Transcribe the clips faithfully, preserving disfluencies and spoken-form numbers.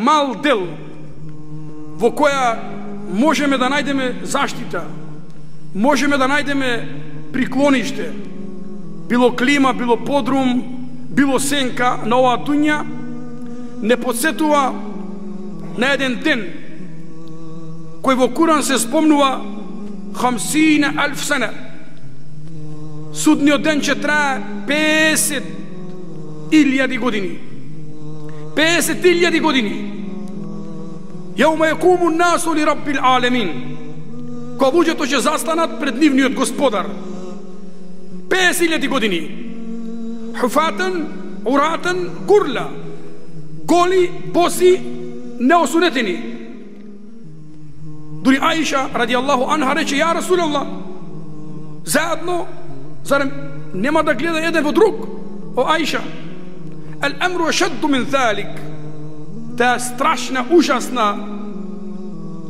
мал дел во која можеме да најдеме заштита, можеме да најдеме приклониште, било клима, било подрум, било сенка на оваа дуња, не подсетува на еден ден кој во Куран се спомнува хамсина алф сана. Судниот ден ќе трае песет илјади години. песет илјади години. Јаума јакуму насу ли раббил алемин. Кога луѓето ќе застанат пред нивниот господар. песет илјади години. Хуфатан, уратан, гурла. Голи, боси, неосунетени. Дури Аиша радијаллаху анха рече: ја Расулаллах, заедно, зарем нема да гледа еден во друг? О Аиша, ал амру ашадду мин залик. Таа страшна, ужасна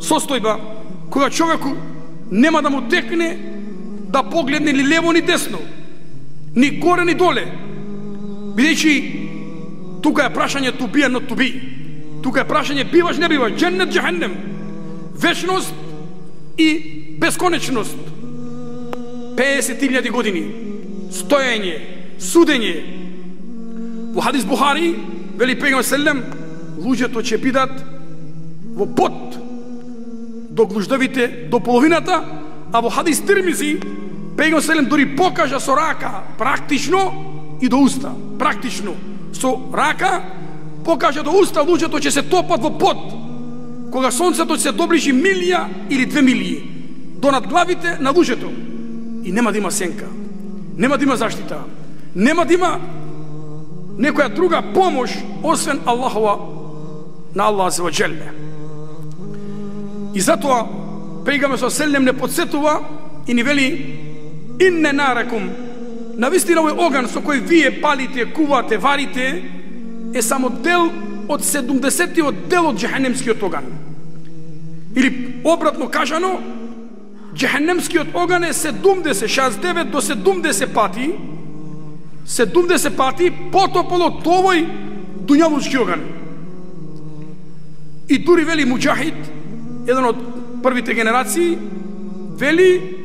состојба кога човеку нема да му текне да погледне ни лево ни десно, ни горе ни доле, бидејќи тука е прашање to be and not to be. Тука е прашање биваш не биваш, дженнет џехеннем, вечност и бесконечност. песет илјади години стоење, судење. Во хадис Бухари вели пегамбер селем, луѓето ќе бидат во пот до глуждовите до половината, а во хадис Тирмизи пегамбер селем дури покажа со рака практично и до уста, практично со рака покажа до уста, луѓето ќе се топат во пот кога сонцето ќе се доближи милија или две милии до надглавите на луѓето и нема да има сенка, нема да има заштита, нема да има некоја друга помош освен Аллахова, на Аллах азza wa jalla. И затоа пегамбер селем не подсетува и ни вели: инне наракум, навистина овој оган со кој вие палите, кувате, варите е само дел од седумдесетиот дел од џехенемскиот оган. Или обратно кажано, џехенемскиот оган е седумдесет, шеесет и девет до седумдесет пати, седумдесет пати потопол од овој дуњалучки оган. И дури вели Муџахид, еден од првите генерации, вели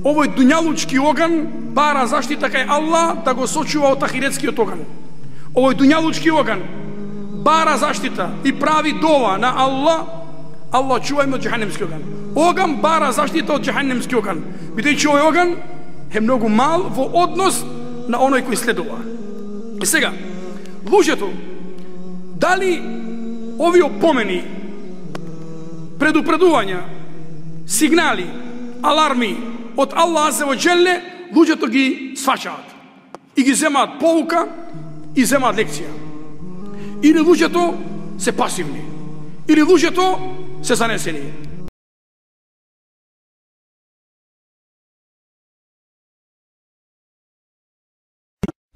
овој дуњалучки оган бара заштита кај Аллах да го сочува од ахиретскиот оган. Овој дуњалучки оган бара заштита и прави дова на Аллах: Аллах, чувај ме од џехенемски оган. Оган бара заштита од џехенемски оган, бидејќи овој оган е многу мал во однос на оној кој следува. И сега, луѓето, дали овие опомени, предупредувања, сигнали, аларми од Аллах азza wa jalla, луѓето ги сваќаат и ги земаат поука и земаат лекција? Или луѓето се пасивни? Или луѓето се занесени?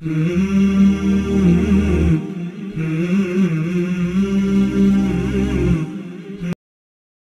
Mm-hmm.